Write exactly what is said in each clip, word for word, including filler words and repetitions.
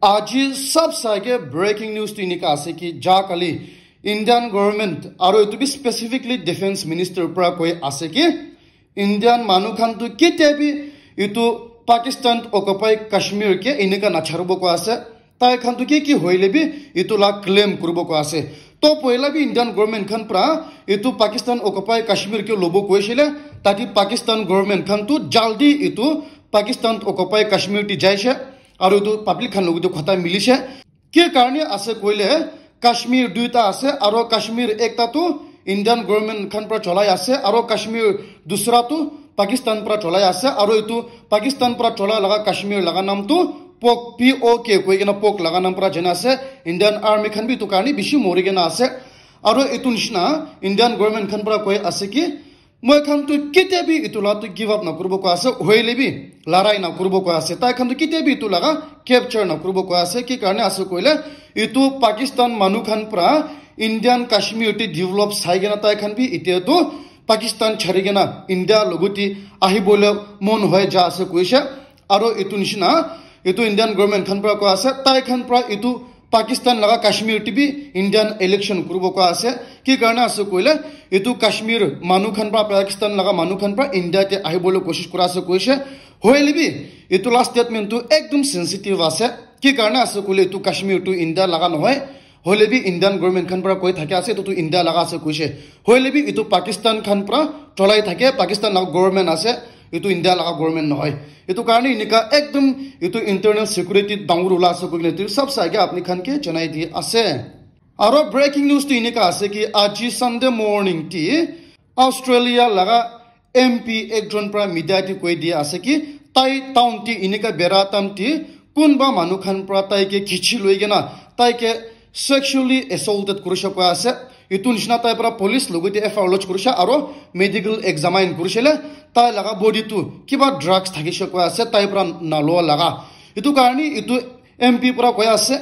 Aji sab saike breaking news tu inika ase ki ja kali Indian government aro etu bi specifically defense minister pra koi ase ki Indian manu khan tu ketia bi etu Pakistan occupy Kashmir ke inika nacharibo koi ase. Tai khan tu ki ki hoile bi etu la claim kuribo koi ase. To poila bi Indian government khan pra etu Pakistan occupy Kashmir ke lobo koisile, tati Pakistan government khan tu jaldi etu Pakistan occupy Kashmir ti jaise. Aro etu public khan logote khota milise. Ki karne ase koile, Kashmir duita ase, aro Kashmir ekta tu Indian government khan pra cholai ase, aro Kashmir dusra tu Pakistan pra cholai ase, aro etu Pakistan pra cholai laga Kashmir laga nam tu pok, P O K koi kena pok laga nam pra jana ase. Indian army khan bi etu karne bishi mori kena ase. Aro etu nishina Indian government khan pra koi ase ki, moi khan tu ketia bi etu la tu give up na kuribo koi ase, hoile bi larai na kuribo koi ase. Tai khan tu ketia bi etu laga capture na kuribo koi ase. Ki karne ase koile, etu Pakistan manu khan pra Indian Kashmir ti develop sai kena tai khan bi etia tu Pakistan chari kena India logote ahibole mon hoi ja ase koise. Aro etu nishina, etu Indian government khan pra koi ase, tai khan pra etu Pakistan laga Kashmir ti bi Indian election kuribo koi ase. Ki karne ase koile, etu Kashmir manu khan pra, Pakistan laga manu khan pra India te ahibole koshish kura ase koise. Hoile bi, etu la statement tu ekdom sensitive ase. Ki karne ase koile, etu Kashmir tu India laga nohoi. Hoile bi Indian government khan pra koi thake ase, etu tu India laga ase koise. Hoile bi etu Pakistan khan pra cholai thake, Pakistan laga government ase, etu India laga government nohoi. Etu karne inika ekdom etu internal security dangor ula ase koikena etu sab saike apni khan ke janai di ase. Aro breaking news tu inika ase ki aji Sunday morning ti Australia laga M P ekjon pra media te koi dia ase ki tai town te inika bera time te kunba manu khan pra tai ke khichi loi kena tai ke sexually assaulted kurishe koi ase. Etu nishina tai pra police logote F I R lodge kurishe aro medical examine kurishe le tai laga body tu kiba drugs thakishe koi ase tai pra naloa laga. Etu karne etu M P pra koi ase,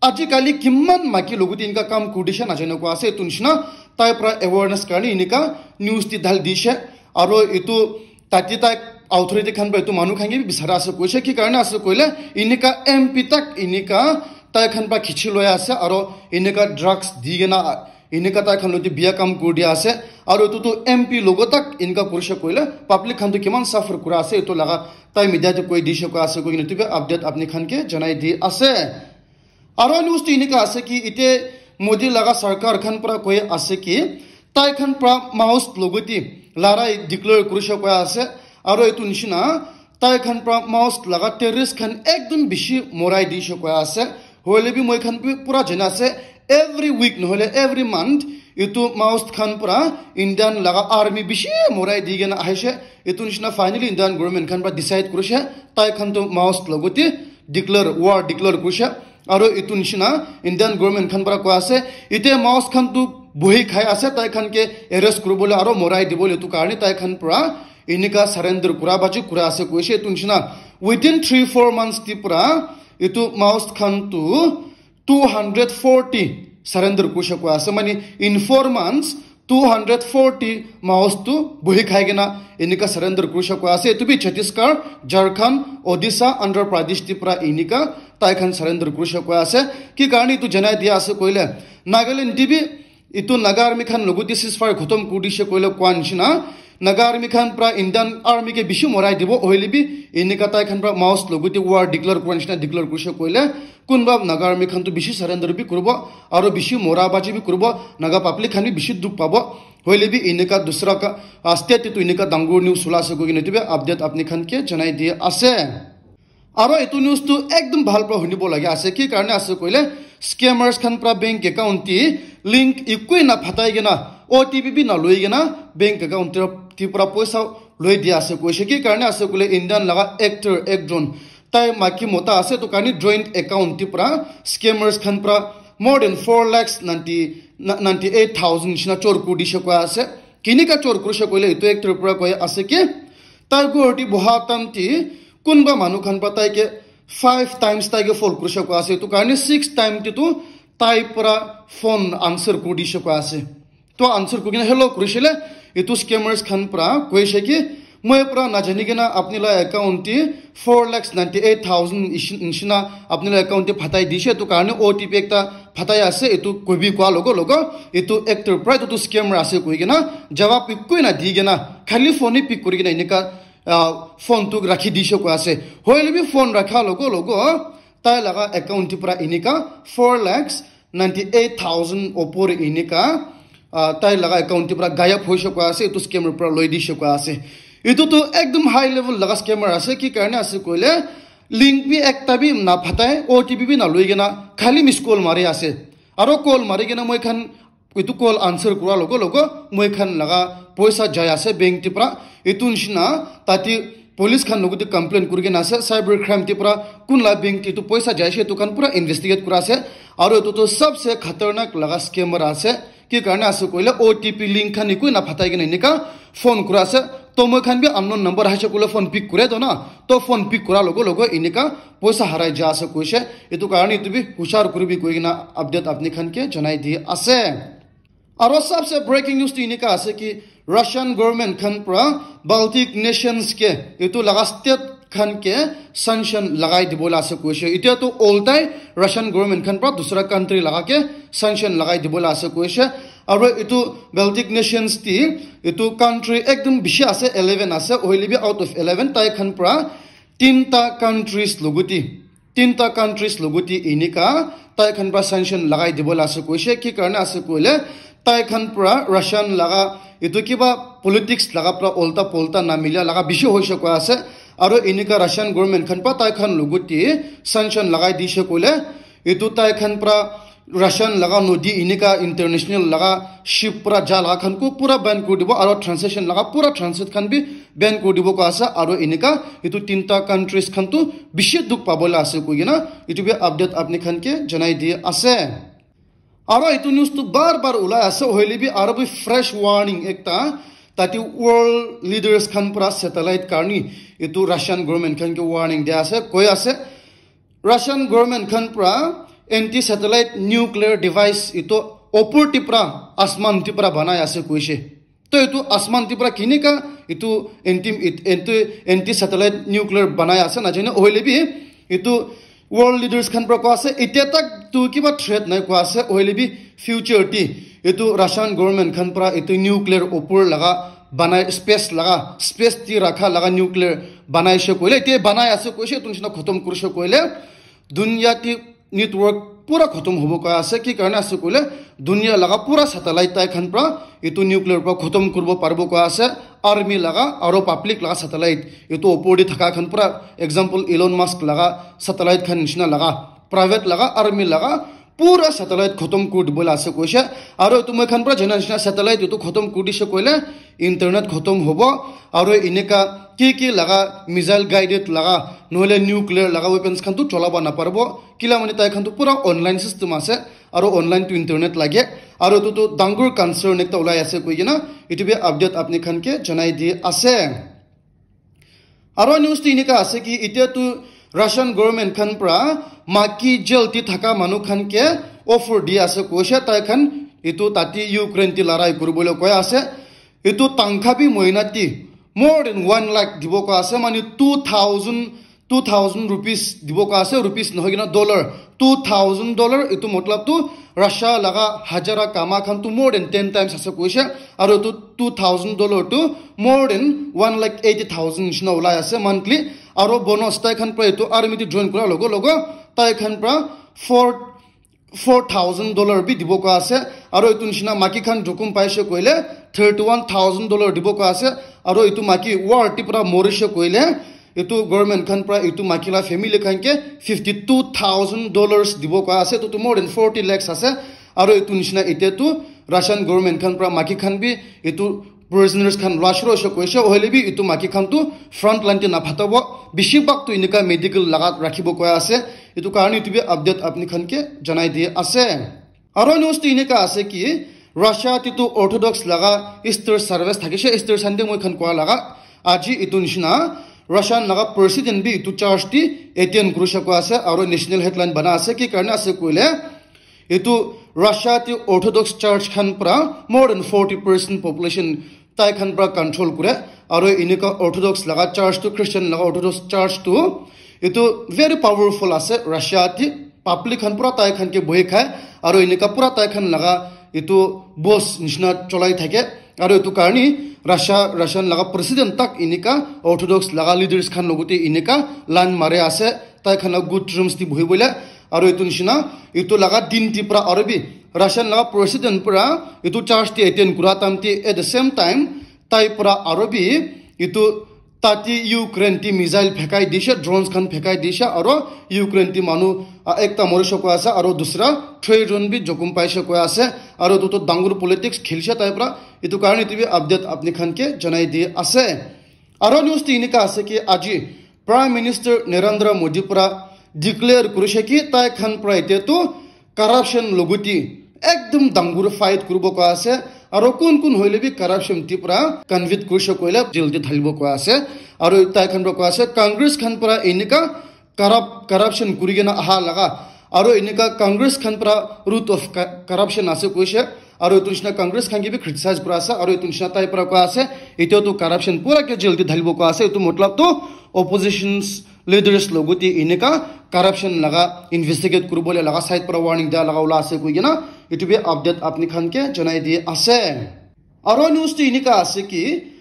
ajikali kiman maki logote inka kam kuri dishe najane koi ase. Etu nishina tai pra awareness karne inika news te dhali dishe. Aro etu tate tai authority khan pra etu manu khan ke bi bisara ase koise. Ki karne ase koile inika M P tak inika tai khan pra khichi loi ase aro inika drugs di kena inika tai khan logote biya kam kuri dia ase. Aro etu tu M P logo tak inika kurishe koile public khan tu kiman suffer kura ase etu laga tai media te koi dishe koi ase koikena etu bi update apni khan ke janai di ase. Aro news tu inika ase ki ite Modi laga sarkar khan pra koi ase ki tai khan pra Maoist logote larai declare kurishe koi ase. Aro etu nishina tai khan pra Maoist laga terrorist khan ekdom bishi morai dishe koi ase. Hoile bi moi khan bi pura jana ase, every week nohole every month etu Maoist khan pra Indian laga army bishi morai di kena ahishe. Etu nishina finally Indian government khan pra decide kurishe tai khan tu Maoist logote declare, war declare kurishe. Aro etu nishina Indian government khan pra koi ase, ite Maoist khan tu bohi khai ase, tai khan ke arrest kuribole aro morai dibole etu karne tai khan pra inika surrender kura baji kura ase koise. Etu nishina within three four months te pra etu Maoist khan tu two hundred forty surrender kurishe koi ase. Mane in four months two hundred forty Maoist tu bohi khai kena inika surrender kurishe koi ase. Etu bi Chhattisgarh, Jharkhand, Odisha, Andhra Pradesh te pra inika tai khan surrender kurishe koi ase. Ki karne etu janai dia ase koile Nagaland te bi etu Naga army khan logote ceasefire khotom kuri dishe koile koi nishina Naga army khan pra Indian army ke bishi morai dibo, hoile bi inika tai khan pra Maoist logote war declare kura nishina declare kurishe koile kunba Naga army khan tu bishi surrender bi kuribo aro bishi mora baji bi kuribo, Naga public khan bi bishi dukh pabo. Hoile bi inika dusra ka, ah, state te tu inika dangor news ula ase koikena etu bi update apni khan ke janai di ase. Aro etu news tu ekdom bhal pra hunibo lage ase, ki karne ase koile scammers khan pra bank account te link ekoi na phatai kena O T P bi na loi kena bank account te, te pra poisa loi dia ase koise. Ki karne ase koile Indian laga actor ekjon tai maki mota ase, etu karne joint account te pra scammers khan pra more than four lakhs ninety, ninety eight thousand nishina chor kuri dishe koi ase. Kinika chor kurishe koile etu actor pra koi ase ki tai ghor te boha time te kunba manu khan pra tai ke five times tai ke fall kurishe koi ase. Etu karne six time te tu tai pra phone answer kuri dishe koi ase. To answer kuri kena hello kurishe le etu scammers khan pra koise ki Moi pura najani kena apni la account te four lakhs ninety eight thousand ishi-, nishina apni la account te phatai dishe, etu karne O T P ekta phatai ase, etu koibi koa logo logo, etu actor pura etu tu scammer ase koi kena jawab ekoi na di kena khali phone hi pick kuri kena enika, ah, phone tu rakhi dishe koi ase. Hoile bi phone rakha logo logo, tai laga account te pura enika four lakhs ninety eight thousand opor enika, ah, tai laga account te pura gayab hoise koi ase, etu scammer pura loi dishe koi ase. Etu tu ekdom high level laga scammer ase, ki karne ase koile, link bi ekta bi na phatai, O T P bi na loi kena, khali miss call mari ase. Aro call mari kena moi khan etu call answer kura logo logo, moi khan laga poisa jai ase bank te pura. Etu nishina tate police khan logote complain kuri kena ase, cyber crime te pura kun la bank te etu poisa jai ase, etu khan pura investigate kura ase. Aro etu tu sabse khatarnak laga scammer ase, ki karne ase koile O T P link khan ekoi na phatai kena enika phone kura ase. To moi khan bi unknown number aise koile phone pick kure to na, to phone pick kura logo logo enika poisa harai ja ase koise. Etu karne etu bi hushar kuribi koi kena update apni khan ke janai di ase. Aro sabse breaking news tu enika ase ki Russian government khan pura Baltic nations ke etu laga state khan ke sanction lagai dibo la ase koise. Etia tu oltai Russian government khan pura dusra country laga ke sanction lagai dibo la ase koise. Aro etu Baltic nations ti etu country ekdom bishi ase, eleven ase, hoile bi out of eleven tai khan pura tinta countries logote, tinta countries logote enika tai khan pura sanction lagai dibo la ase koise. Ki karne ase koile, tai khan pura Russian laga etu kiba politics laga pura olta polta na milia laga bishi hoise koi ase. Aro enika Russian government khan pura tai khan logote sanction lagai dishe koile, etu tai khan pura Russian laga nodi enika international laga ship pura ja laga khan ko pura ban kuri dibo, aro transaction laga pura transit khan bi ban kuri dibo koi ase. Aro enika etu tinta countries khan tu bishi dukh pabo la ase koi kena etu bi update apni khan ke janai di ase. Aro etu news tu bar bar ulai ase, hoile bi aro bi fresh warning ekta tate world leaders khan pura satellite karne etu Russian government khan ke warning dia ase, koi ase Russian government khan pura anti satellite nuclear device etu opor te pura asman te pura banai ase koise. To etu asman te pura kinika etu anti, etu anti satellite nuclear banai ase najane, hoile bi etu world leaders khan pura koi ase etia tak tu kiba threat nai koi ase, hoile bi future te etu Russian government khan pura etu nuclear opor laga banai, space laga, space te rakha laga nuclear banai she koile, etia banai ase koise, etu nishina khotom kurise koile dunia te network pura khotom hobo koi ase. Ki karne ase koile dunia laga pura satellite tai khan pura etu nuclear pura khotom kuribo paribo koi ase. Army laga aro public laga satellite etu opor te thaka khan pura, example Elon Musk laga satellite khan nishina laga, private laga, army laga pura satellite khotom kuri dibo la ase koise. Aro etu moi khan pura jana nishina satellite etu khotom kuri dishe koile internet khotom hobo, aro enika ki ki laga missile guided laga nohole nuclear laga weapons khan tu cholaba naparibo. Kila mane tai khan tu pura online system ase, aro online tu internet lage, aro etu tu dangur concern ekta ulai ase koi kena etu bi update apni khan ke janai di ase. Aro news tu enika ase ki etia tu Russian government khan pura maki jail te thaka manu khan ke offer di ase koise, tai khan etu tate Ukraine te larai kuribole koi ase. Etu tangkha bi moina te more than one lakh dibo koi ase, mane two thousand, two thousand rupees dibo koi ase, rupees nohoi kena dollar, two thousand dollar, etu matlab tu Russia laga hajara kama khan tu more than ten times ase koise, aro etu two thousand dollar tu more than one lakh eighty thousand nishina ulai ase monthly, aro bonus tai khan pura etu army te join kura logo logo tai khan pura four four thousand dollar bi dibo koi ase, aro etu nishina maki khan jokhom paise koile thirty one thousand dollar dibo koi ase, aro etu maki war te pura morise koile etu government khan pura etu maki la family khan ke fifty two thousand dollars dibo koi ase, etu tu more than forty lakhs ase, aro etu nishina etia tu Russian government khan pura maki khan bi etu prisoners khan lua shuru hoise koise, hoile bi etu maki khan tu front line te naphatabo, bishi bhag tu enika medical laga rakhibo koi ase. Etu karne etu bi update apni khan ke janai di ase. Aro news tu enika ase ki Russia te tu Orthodox laga Easter service thakise, Easter Sunday moi khan koa laga, aji etu nishina Russian laga president bi etu church te attend kurise koi ase, aro national headline bana ase, ki karne ase koile etu Russia te Orthodox Church khan pura more than forty percent population tai khan pura control kure, Aro enika Orthodox laga church tu, Christian laga Orthodox church tu, etu very powerful ase Russia ti. Public khan pura tai khan ke bohi khai, aro enika pura tai khan laga etu boss nishina cholai thake. Aro etu karni Russia, Russian laga president tak enika Orthodox laga leaders khan logote enika line mare ase, tai khan laga good terms ti bohi bole. Aro etu nishina, etu laga din ti pura aro bi Russian laga president pura etu church ti attend kura time ti, at the same time tai pura aro bi etu tati Ukraine ti missile phekai dishe, drones khan phekai dishe, aro Ukraine ti manu, ah, ekta morishe koi ase, aro dusra three jon bi jokhom paishe koi ase, aro etu tu dangor politics khilishe tai pura. Etu karni etu bi update apni khan ke janai di ase. Aro news ti enika ase ki aji Prime Minister Narendra Modi pura declare kurishe ki tai khan pura ite tu corruption logote ekdum dangor fight kuribo koi ase, aro kun kun hoile bi corruption ti pura convict kurishe koile jail te thalibo koi ase. Aro tai khan pura koi ase Congress khan pura enika corrupt, corruption kuri kena aha laga, aro enika Congress khan pura root of co- corruption ase koishe, aro etu nishina Congress khan ke bi criticize kura ase, aro etu nishina tai pura koi ase etu tu corruption pura ke jail te thalibo koi ase. Etu matlab tu oppositions leaders logote enika corruption laga investigate kuribole laga side para warning dia laga ula ase koi kena etu bi update apni khan ke janai di ase. Aro news tu enika ase ki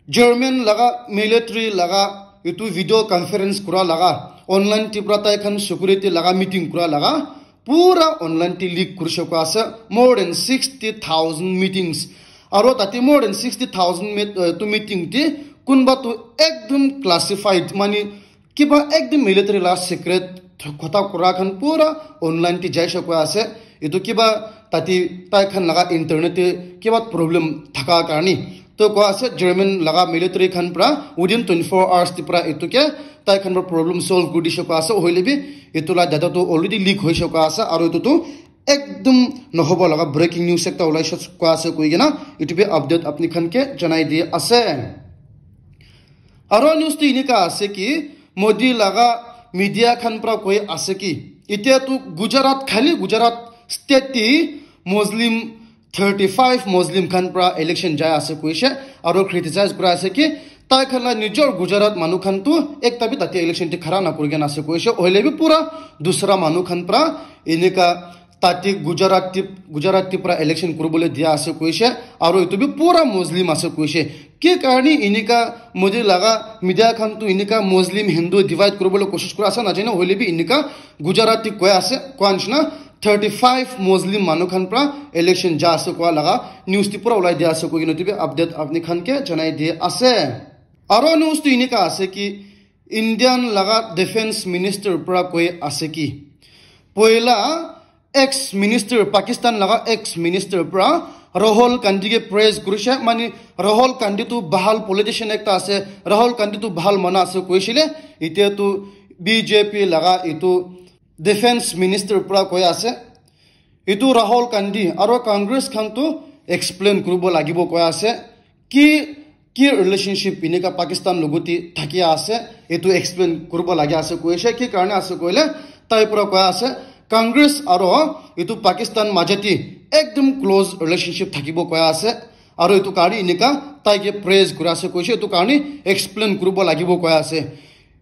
German laga military laga etu video conference kura laga online ti pura tai khan security laga meeting kura laga pura online ti leak kurishe koi ase. More than sixty thousand meetings. Aro tate more than sixty thousand meet, uh, tu meeting ti kunba tu ekdum classified mani kiba ekdum military la secret kotha kura khan pura online te jaishe koi ase. Etu kiba tate tai khan laga internet te kiba problem thaka karni to koi ase German laga military khan pura within twenty four hours te pura etu ke tai khan pura problem solve kuri dishe koi ase. Hoile bi etu la data tu already leak hoishe koi ase, aro etu tu ekdum nohobo laga breaking news ekta ulaishe koi ase koi kena etu bi update apni khan ke janai di ase. Aro news tu enika ase ki Modi laga media khan pura koi ase ki etia tu Gujarat, khali Gujarat state ti Muslim thirty five Muslim khan pura election jai ase koishe, aro criticize kura ase ki tai khan la nijor Gujarat manu khan tu ekta bi tate election te khara na kuri kena ase koishe, hoile bi pura dusra manu khan pura enika tate Gujarat ti, Gujarat ti pura election kuribole dia ase koishe, aro etu bi pura Muslim ase koishe. Ki karni enika Modi laga media khan tu enika Muslim Hindu divide kuribole koshish kura ase na jane, hoile bi enika Gujarat ti koi ase, koi nishina thirty five Muslim manu khan pura election ja ase koi laga news ti pura ulai dia ase koi kena etu bi update apni khan ke janai di ase. Aro news tu enika ase ki Indian laga defense minister pura koi ase ki poila ex minister, Pakistan laga ex minister pura Rahul Gandhi ke praise kurishe, mani Rahul Gandhi tu bahal politician ekta ase, Rahul Gandhi tu bahal mana ase koishile, etia tu B J P laga etu defense minister pura koi ase. Etu Rahul Gandhi aro Congress khan tu explain kuribo lagibo koi ase ki ki relationship enika Pakistan logote thaki ase, etu explain kuribo lagi ase koishe. Ki karne ase koile tai pura koi ase Congress aro etu Pakistan majati ekdum close relationship thakibo koi ase, aro etu karne enika tai ke praise kuri ase koishe, etu karne explain kuribo lagibo koi ase.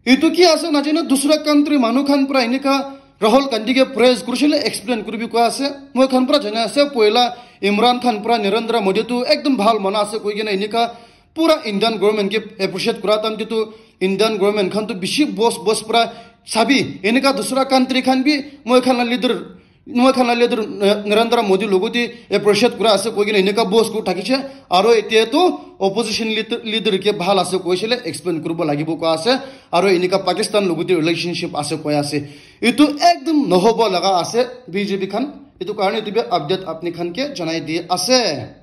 Etu ki ase najane, dusra country manu khan pura enika Rahul Gandhi ke praise kurishile, explain kuribi koi ase. Moi khan pura jana ase, poila Imran Khan pura Narendra Modi tu ekdum bhal mana ase koi kena enika pura Indian government ke appreciate kura time te tu Indian government khan tu bishi boss boss pura sabi enika dusra country khan bi moi khan la leader moi khan la leader, eh, Narendra Modi logote appreciate kura ase koi kena enika boss kuri thakishe, aro etia tu opposition leader, leader ke bhal ase koisile explain kuribo lagibo koi ase, aro enika Pakistan logote relationship ase koi ase. Etu ekdum nohobo laga ase B J P khan, etu karne etu bi update apni khan ke janai di ase.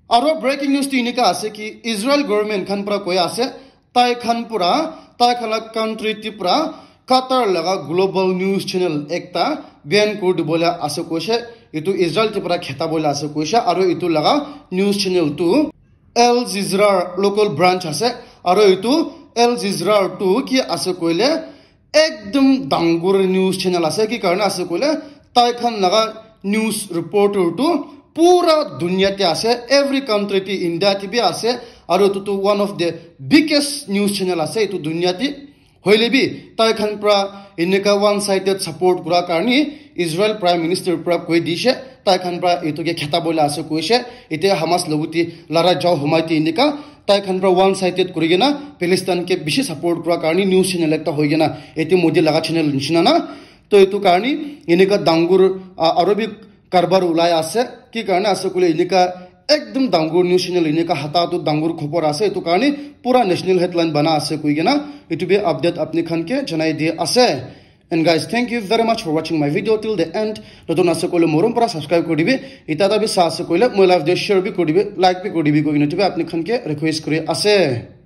Aro breaking news tu enika ase ki Israel government khan pura koi ase, tai khan pura, tai khan la country ti pura Qatar laga global news channel ekta ban kuri dibole ase koishe, etu Israel ti pura kheta bole ase koishe, aro etu laga news channel tu Al Jazeera local branch ase, aro etu Al Jazeera tu ki ase koile ekdum dangor news channel ase, ki karne ase koile tai khan laga news reporter tu pura dunia te ase, every country te, India te bi ase, Aru etu tu one of the biggest news channel ase etu dunia te. Hoile bi tai khan pra enika one sided support kura karni Israel Prime Minister pra koi dishe, tai khan pra etu ke kheta bola ase koishe. Ite Hamas loguti lara jao humai te enika tai khan pra one sided kuri kena Palestine ke bishi support kura karni news channel ekta hoi kena ete Modi laga channel nishina na. To etu karni enika dangur, ah, aru bi karbar ulai ase. Ki karne ase koile enika ekdom dangur news channel enika hata tu dangur khobor ase. Etu karne pura national headline bana ase koi kena etu bi update apni khan ke janai di ase. And guys, thank you very much for watching my video till the end. Notun ase koile morom para subscribe kuri dibi. Ita ta bi sa ase koile moi live de share bi kuri dibi, like bi kuri dibi koi kena etu bi apni khan ke request kuri ase.